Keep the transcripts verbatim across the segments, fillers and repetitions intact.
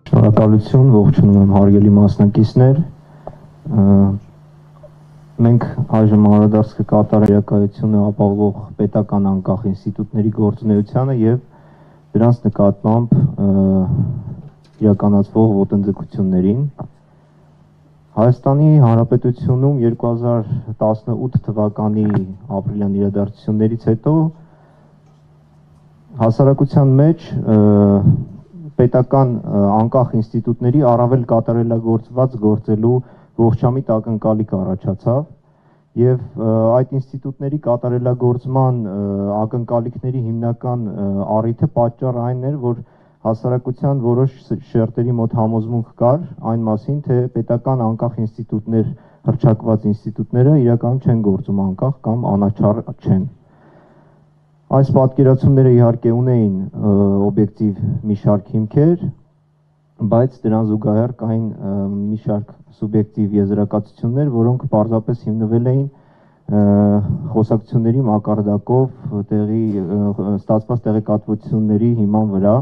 Շնորհակալություն, ողջունում եմ հարգելի մասնակիցներ։ Մենք այժմ անդրադարձ կկատարենք իրականությունը ապահովող պետական անկախ ինստիտուտների գործունեությանը եւ դրանց նկատմամբ իրականացվող ոտնձգություններին։ Հայաստանի Հանրապետությունում երկու հազար տասնութ թվականի ապրիլյան իրադարձություններից հետո հասարակության մեջ պետական անկախ ինստիտուտների առավել կատարելագործված գործելու ողջամիտ ակնկալիք առաջացավ եւ այդ ինստիտուտների կատարելագործման ակնկալիքների հիմնական առիթը պատճառ այն էր, որ հասարակության որոշ շերտերի մոտ համոզմունք կար այն մասին, թե պետական անկախ ինստիտուտներ, հռչակված ինստիտուտները իրականում չեն գործում անկախ կամ անաչառ չեն։ Այս պատկերացումները իհարկե ունեին օբյեկտիվ մի շարք հիմքեր, բայց դրան զուգահեռ կային մի շարք սուբյեկտիվ եզրակացություններ, որոնք պարզապես հիմնվել էին խոսակցությունների մակարդակով տեղի ստացված տեղեկատվությունների հիման վրա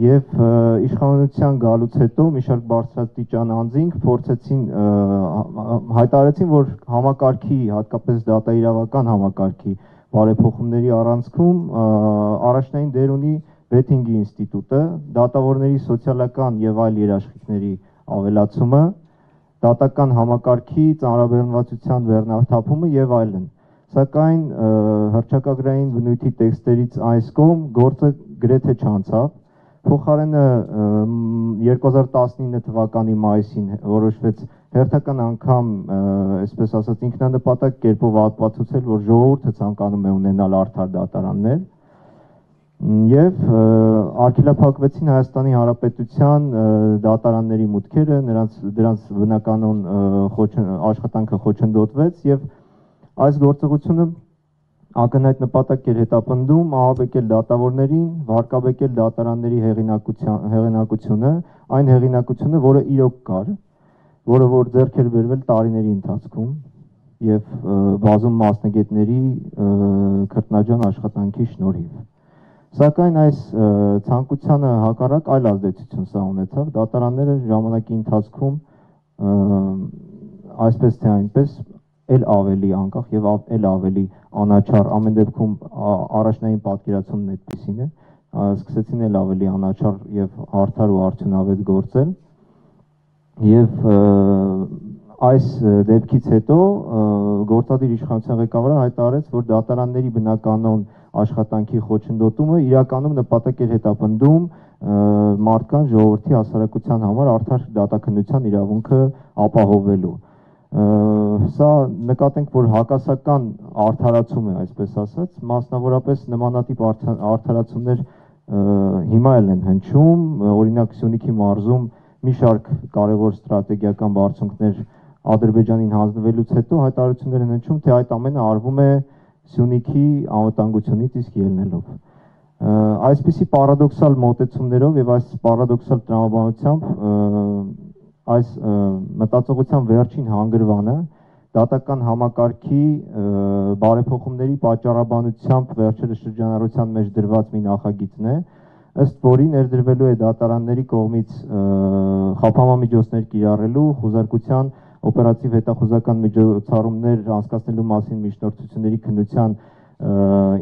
եւ իշխանության գալուց հետո մի շարք բարձրաստիճան անձինք փորձեցին հայտարարեցին, որ համակարգի, հատկապես դատաիրավական համակարգի բարեփոխումների առանցքում առաջնային դեր ունի վեթինգի ինստիտուտը, դատավորների սոցիալական եւ այլ երաշխիքների ավելացումը, դատական համակարգի ծանրաբեռնվածության վերնաթափումը եւ այլն։ Սակայն հռչակագրային բնույթի տեքստերից այս կողմ գործը գրեթե չանցավ։ Փոխարենը երկու հազար տասնինը թվականի մայիսին որոշվեց հերթական անգամ, այսպես ասած, ինքնանպատակ կերպով ապացուցել, որ ժողովուրդը ցանկանում է ունենալ արդար դատարաններ եւ արգելափակվեցին Հայաստանի Հանրապետության դատարանների մուտքերը, նրանց դրանց բնականon աշխատանքը խոչընդոտվեց եւ այս գործողությունը ակնհայտ նպատակ էր հետապնդում ահաբեկել դատավորներին, վարկաբեկել դատարանների հեղինակությունը, այն հեղինակությունը, որը իրոք կար, որը որ ձեռք էր բերվել տարիների ընթացքում եւ բազում մասնագետների քրտնաջան աշխատանքի շնորհիվ։ Սակայն այս ցանկությանը հակառակ այլ ազդեցություն սա ունեցավ, դատարանները ժամանակի ընթացքում այսպես թե այնպես էլ ավելի անկախ եւ էլ ավելի անաչառ, ամեն դեպքում առաջնային պատկերացումն այդպեսին է, սկսեցին էլ ավելի անաչառ եւ արդար ու արդյունավետ գործել եւ այս դեպքից հետո գործադիր իշխանության ղեկավարը հայտարարեց, որ դատարանների բնականon աշխատանքի խոչընդոտումը իրականում նպատակ էր հետապնդում մարդկանց ժողովրդի հասարակության համար արդար դատաքննության իրավունքը ապահովելու։ Սա նկատենք, որ հակասական արդարացում է, այսպես ասած, մասնավորապես նմանատիպ արդարացումներ հիմա էլ են հնչում, օրինակ Սյունիքի մարզում մի շարք կարևոր ստրատեգիական բարձունքներ Ադրբեջանին հանձնվելուց հետո հայտարարություններ են հնչում, թե այդ ամենը արվում է Սյունիքի անվտանգությունից իսկ ելնելով։ Այսպիսի պարադոքսալ մոտեցումներով եւ այս պարադոքսալ տրամաբանությամբ այս մտածողության վերջին հանգրվանը դատական համակարգի բարեփոխումների պատճառաբանությամբ վերջերս շրջանառության մեջ դրված մի նախագիծն է, ըստ որի ներդրվելու է դատարանների կողմից խափամամիջոցներ կիրառելու, խուզարկության օպերատիվ հետախուզական միջոցառումներ անցկացնելու մասին միջնորդությունների քննության,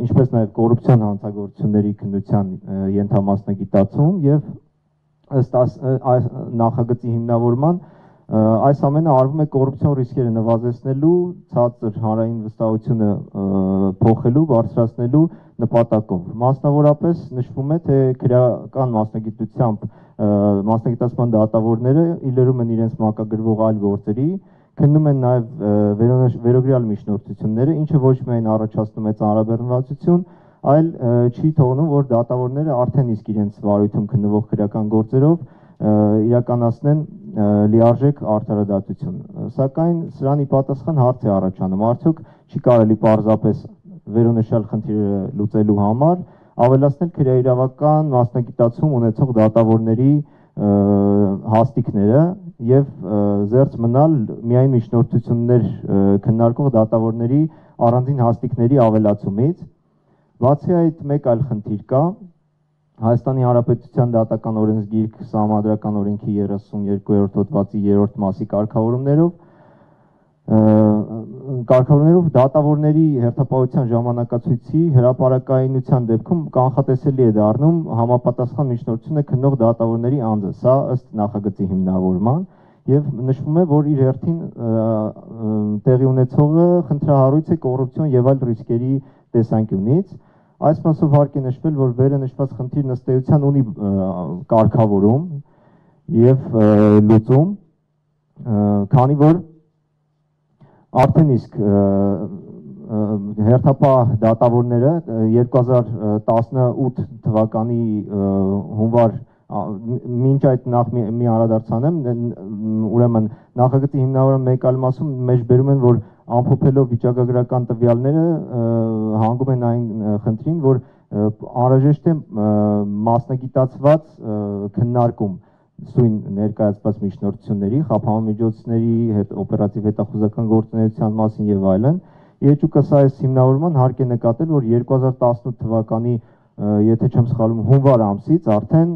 ինչպես նաև կոռուպցիոն հանցագործությունների քննության ենթամասնագիտացում եւ ըստ այս նախագծի հիմնավորման այս ամենը արվում է կոռուպցիոն ռիսկերը նվազեցնելու, ցածր հանրային վստահությունը փոխելու, բարձրացնելու նպատակով։ Մասնավորապես նշվում է, թե քրեական մասնագիտությամբ մասնագիտացման դատավորները իլերում են իրենց մակագրվող այլ գործերի, քննում են նաև վերոգրյալ միջնորդությունները, ինչը ոչ միայն առաջացնում է ծանրաբեռնվածություն, այլ չի թողնում, որ դատավորները արդեն իսկ իրենց վարույթում քննվող քրեական գործերով իրականացնեն լիարժեք արդարադատություն։ Սակայն սրան ի պատասխան հարց է առաջանում, արդյոք չի կարելի պարզապես վերոնշյալ խնդիրը լուծելու համար ավելացնել քրեաիրավական մասնագիտացում ունեցող դատավորների հաստիկները եւ զերծ մնալ միայն միջնորդություններ քննարկող դատավորների առանձին հաստիկների ավելացումից, Բացի այդ մեկ այլ խնդիր կա, Հայաստանի Հանրապետության դատական օրենսգիրք Սահմանադրական օրենքի երեսունյոթերորդ հոդվածի երրորդ մասի կարգավորումներով կարգավորումներով դատավորների հերթապահության ժամանակացույցի հրապարակայնության դեպքում կանխատեսելի է դառնում համապատասխան միջնորդությունը քննող դատավորների անձը, սա ըստ նախագծի հիմնավորման, եւ նշվում է, որ իր հերթին տեղի ունեցողը խնդրահարույց է կոռուպցիոն եւ այլ ռիսկերի տեսանկյունից։ Այս մասով հարկ է նշվել, որ վերը նշված խնդիրն ըստ էության ունի կարգավորում եւ լուծում, քանի որ արդեն իսկ հերթապահ դատավորները երկու հազար տասնութ թվականի հունվար մինչ այդ նախ մի անդրադարձանեմ, ուրեմն նախագծի հիմնավորման մեկ այլ մասում մեջ բերում են, որ ամփոփելով վիճակագրական տվյալները հանգում են այն խնդրին, որ անհրաժեշտ է մասնագիտացված քննարկում սույն ներկայացված միջնորդությունների, խափանամիջոցների, օպերատիվ հետախուզական գործունեության մասին եւ այլն։ Իհեճուկս այս հիմնավորման հարկ է նկատել, որ երկու հազար տասնութ թվականի եթե չեմ սխալվում հունվար ամսից արդեն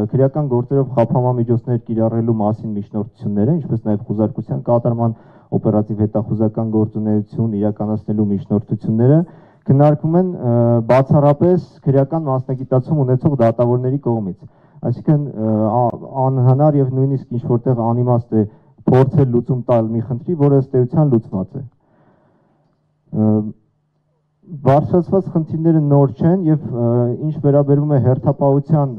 քրեական գործերով խափանամիջոցներ կիրառելու մասին միջնորդությունները, ինչպես նաև խուզարկության կատարման օպերատիվ հետախուզական գործունեություն իրականացնելու միջնորդությունները քննարկվում են բացառապես քրեական մասնագիտացում ունեցող դատավորների կողմից։ Այսինքն անհնար եւ նույնիսկ ինչ որտեղ անիմաստ է փորձել լուծում տալ մի խնդրի, որը ըստ էության լուծված է։ Բարձրացված խնդիրները նոր չեն եւ ինչ վերաբերում է հերթապահության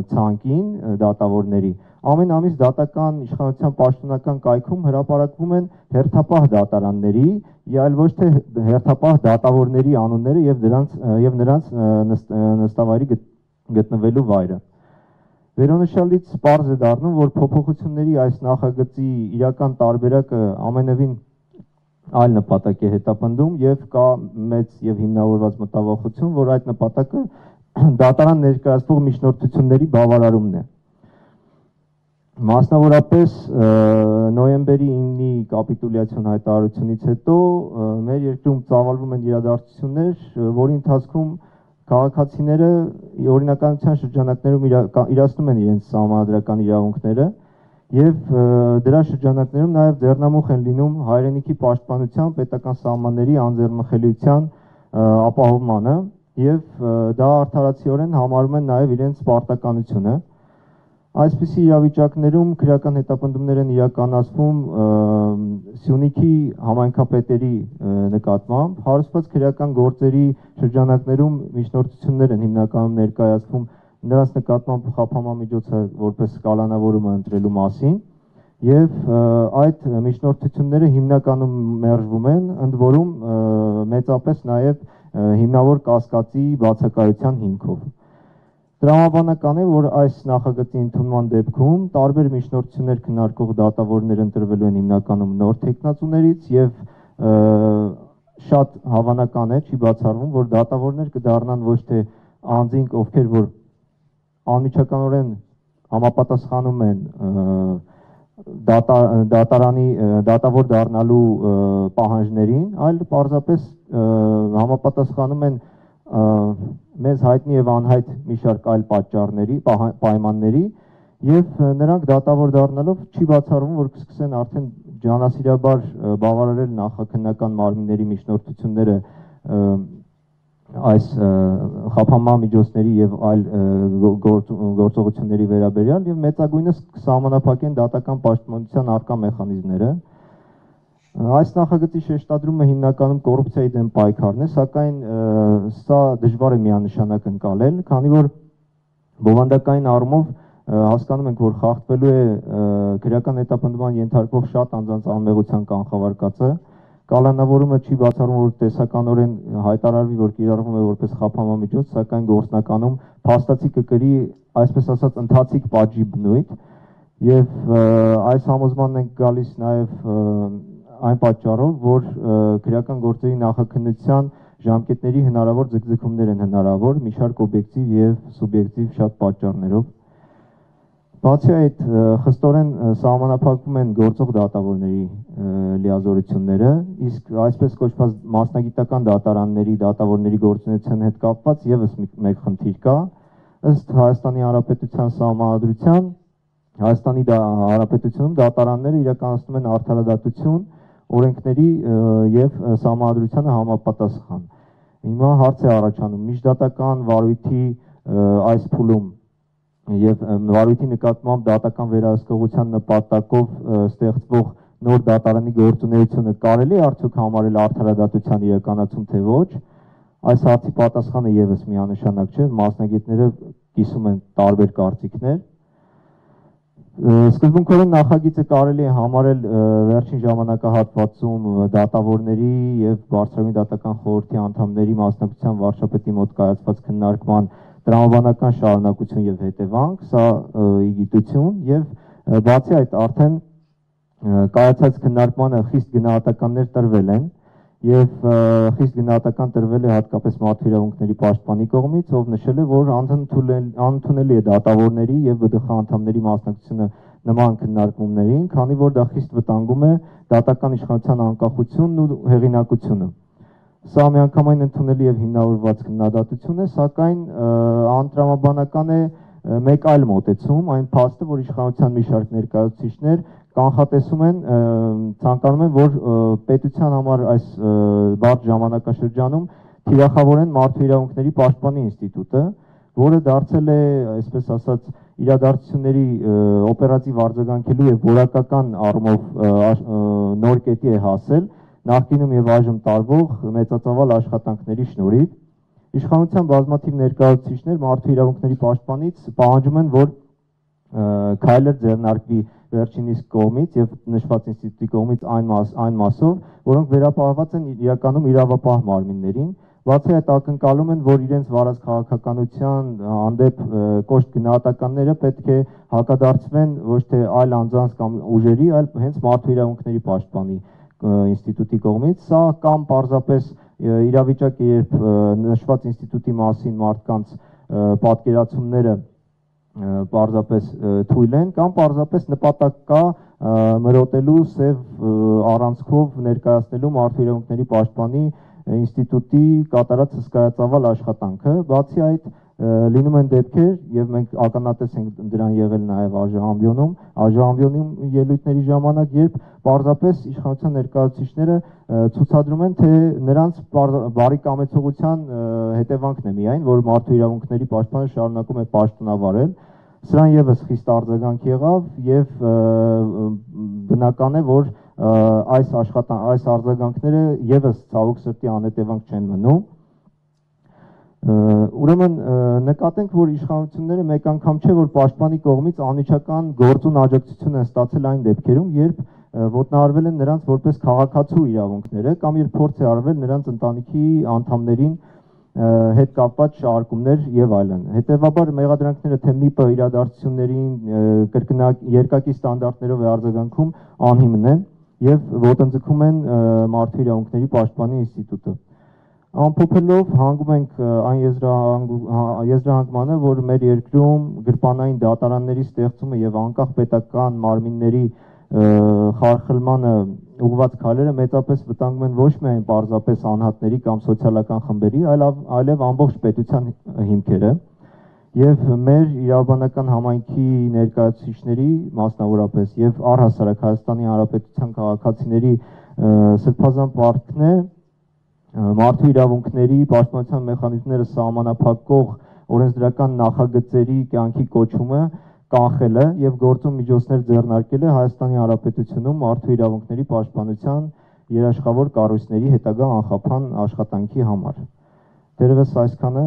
ցանկին դատավորների, ամեն ամիս դատական իշխանության պաշտոնական կայքում հրապարակվում են հերթապահ դատարանների, այլ ոչ թե հերթապահ դատավորների անունները եւ դրանց եւ նրանց նստավայրի գտնվելու վայրը։ Վերոնշյալից պարզ է դառնում, որ փոփոխությունների այս նախագծի իրական տարբերակը ամենևին այլ նպատակ է հետապնդում եւ կա մեծ եւ հիմնավորված մտավախություն, որ այդ նպատակը դատարան ներկայացվող միջնորդությունների բավարարումն է։ Մասնավորապես նոյեմբերի իննի կապիտուլյացիոն հայտարարությունից հետո մեր երկրում ծավալվում են իրադարձություններ, որի ընթացքում քաղաքացիները օրինականության շրջանակներում իրացնում են իրենց սահմանադրական իրավունքները եւ դրա շրջանակներում նաեւ ձեռնամուխ են լինում հայրենիքի պաշտպանության, պետական սահմանների անձեռնխելիության ապահովմանը եւ դա արդարացիորեն համարում են նաեւ իրենց պարտականությունը։ Այսպիսի իրավիճակներում քրեական հետապնդումներ են իրականացվում Սյունիքի համայնքապետերի նկատմամբ, հարուցված քրեական գործերի շրջանակներում միջնորդություններ են հիմնականում ներկայացվում նրանց նկատմամբ խափանամիջոցը որպես կալանավորումը ընտրելու մասին եւ այդ միջնորդությունները հիմնականում մերժվում են, ընդ որում մեծապես նաեւ հիմնավոր կասկածի բացակայության հիմքով։ Տրամաբանական է, որ այս նախագծի ընդունման դեպքում տարբեր միջնորդություններ քննարկող դատավորներ ընտրվելու են հիմնականում նոր թեկնածուներից եւ շատ հավանական է, չի բացառվում, որ դատավորներ կդառնան ոչ թե անձինք, ովքեր որ անմիջականորեն համապատասխանում են դատարանի դատավոր դառնալու պահանջներին, այլ պարզապես համապատասխանում են մեզ հայտնի եւ անհայտ մի շարք այլ պատճառների, պայմանների եւ նրանք դատավոր դառնալով չի բացառվում, որ կսկսեն արդեն ջանասիրաբար բավարարել նախաքննական մարմինների միջնորդությունները այս խափանամիջոցների եւ այլ գործողությունների վերաբերյալ եւ մեծագույնս կսահմանափակեն դատական պաշտպանության առկա մեխանիզմները։ Այս նախագծի շեշտադրումը հիմնականում կոռուպցիայի դեմ պայքարն է, սակայն սա դժվար է միանշանակ ընկալել, քանի որ բովանդակային առումով հասկանում ենք, որ խախտվելու է քրեական հետապնդման ենթարկվող շատ անձանց անմեղության կանխավարկածը, կալանավորումը չի բացառում, որ տեսականորեն հայտարարվի, որ կիրառվում է որպես խափանամիջոց, սակայն գործնականում փաստացի կկրի, այսպես ասած, ընթացիկ պատժի բնույթ եւ այս համոզմանն ենք գալիս նաեւ այն պատճառով, որ քրեական գործերի նախաքննության ժամկետների հնարավոր ձգձգումներ են հնարավոր մի շարք օբյեկտիվ եւ սուբյեկտիվ շատ պատճառներով։ Բացի այդ, խստորեն սահմանափակվում են գործող դատավորների լիազորությունները, իսկ այսպես կոչված մասնագիտական դատարանների, դատավորների գործունեության հետ կապված ևս մեկ խնդիր կա, ըստ Հայաստանի Հանրապետության Սահմանադրության, Հայաստանի Հանրապետությունում դատարանները իրականացնում են արդարադատություն, օրենքների եւ Սահմանադրությանը համապատասխան։ Հիմա հարց է առաջանում միջդատական վարույթի այս փուլում եւ վարույթի նկատմամբ դատական վերահսկողության նպատակով ստեղծվող նոր դատարանի գործունեությունը կարելի է արդյոք համարել արդարադատության իրականացում թե ոչ, այս հարցի պատասխանը եւս միանշանակ չէ, մասնագետները կիսում են տարբեր կարծիքներ։ Սկզբունքորեն նախագիծը կարելի է համարել վերջին ժամանակահատվածում դատավորների եւ Բարձրագույն դատական խորհրդի անդամների մասնակցության վարչապետի մոտ կայացված քննարկման տրամաբանական շարունակություն եւ հետևանք, սա ի գիտություն եւ բացի այդ արդեն կայացած քննարկմանը խիստ գնահատականներ տրվել են եւ խիստ գնահատական տրվել է հատկապես մարդու իրավունքների պաշտպանի կողմից, ով նշել է, որ անընդունելի է դատավորների եւ ԲԴԽ անդամների մասնակցությունը նման քննարկումներին, քանի որ դա խիստ վտանգում է դատական իշխանության անկախությունն ու հեղինակությունը։ Սա միանգամայն ընդունելի եւ հիմնավորված քննադատություն է, սակայն անտրամաբանական է մեկ այլ մոտեցում, այն փաստը, որ իշխանության մի շարք ներկայացուցիչներ կանխատեսում են, ցանկանում են, որ պետության համար այս բարդ ժամանակաշրջանում թիրախավորեն մարդու իրավունքների պաշտպանի ինստիտուտը, որը դարձել է, այսպես ասած, իրադարձությունների օպերատիվ արձագանքելու եւ որակական առումով նոր կետի է հասել նախկինում եւ այժմ տարվող մեծածավալ աշխատանքների շնորհիվ իշխանության բազմաթիվ ներկայացուցիչներ մարդու իրավունքների պաշտպանից պահանջում են, որ քայլեր ձեռնարկվի վերջինիս կողմից եւ նշված ինստիտուտի կողմից այն մաս այն մասով, որոնք վերապահված են իրականում իրավապահ մարմիններին, բացի այդ ակնկալում են, որ իրենց վարած քաղաքականության հանդեպ կոշտ գնահատականները պետք է հակադարձվեն ոչ թե այլ անձանց կամ ուժերի, այլ հենց մարդու իրավունքների պաշտպանի ինստիտուտի կողմից, սա կամ պարզապես իրավիճակ է, երբ նշված ինստիտուտի մասին մարդկանց պատկերացումները պարզապես թույլ են, կամ պարզապես նպատակ կա մրոտելու սև առանցքով ներկայացնելու մարդու իրավունքների պաշտպանի ինստիտուտի կատարած հսկայածավալ աշխատանքը, բացի այդ լինում են դեպքեր եւ մենք ականատես ենք դրան եղել նաեւ ԱԺ-ամբիոնում, ԱԺ-ամբիոնում ելույթների ժամանակ, երբ պարզապես իշխանության ներկայացուցիչները ցուցադրում են, թե նրանց բարի կամեցողության հետևանքն է միայն, որ մարդու իրավունքների պաշտպանը շարունակում է պաշտոնավարել, սրան եւս խիստ արձագանք եղավ եւ բնական է, որ այս աշխատան այս արձագանքները եւս ցավոք սրտի անհետևանք չեն մնում։ Ուրեմն նկատենք, որ իշխանությունները մեկ անգամ չէ, որ պաշտպանի կողմից անմիջական գործուն աջակցություն են ստացել այն դեպքերում, երբ ոտնահարվել են նրանց որպես քաղաքացու իրավունքները կամ երբ փորձ է արվել նրանց ընտանիքի անդամներին հետ կապված շարժումներ եւ այլն։ Հետեւաբար մեղադրանքները թե ՄԻՊ-ը իրադարձություններին կրկնակ երկակի ստանդարտներով է արձագանքում անհիմն են եւ ոտնձգում են մարդու իրավունքների պաշտպանի ինստիտուտը։ Ամփոփելով հանգում ենք այն եզրահանգմանը, որ մեր երկրում գրպանային դատարանների ստեղծումը եւ անկախ պետական մարմինների խարխլմանը ուղղված քայլերը մեծապես վտանգում են ոչ միայն պարզապես անհատների կամ սոցիալական խմբերի, այլ այլև ամբողջ պետության հիմքերը եւ մեր իրավաբանական համայնքի ներկայացուցիչների, մասնավորապես եւ առհասարակ Հայաստանի Հանրապետության քաղաքացիների սրբազան պարտքն է մարդու իրավունքների պաշտպանության մեխանիզմները սահմանափակող օրենսդրական նախագծերի կյանքի կոչումը կանխելը եւ գործում միջոցներ ձեռնարկելը Հայաստանի Հանրապետությունում մարդու իրավունքների պաշտպանության երաշխավոր կառույցների հետագա անխափան աշխատանքի համար։ Դերևս այսքանը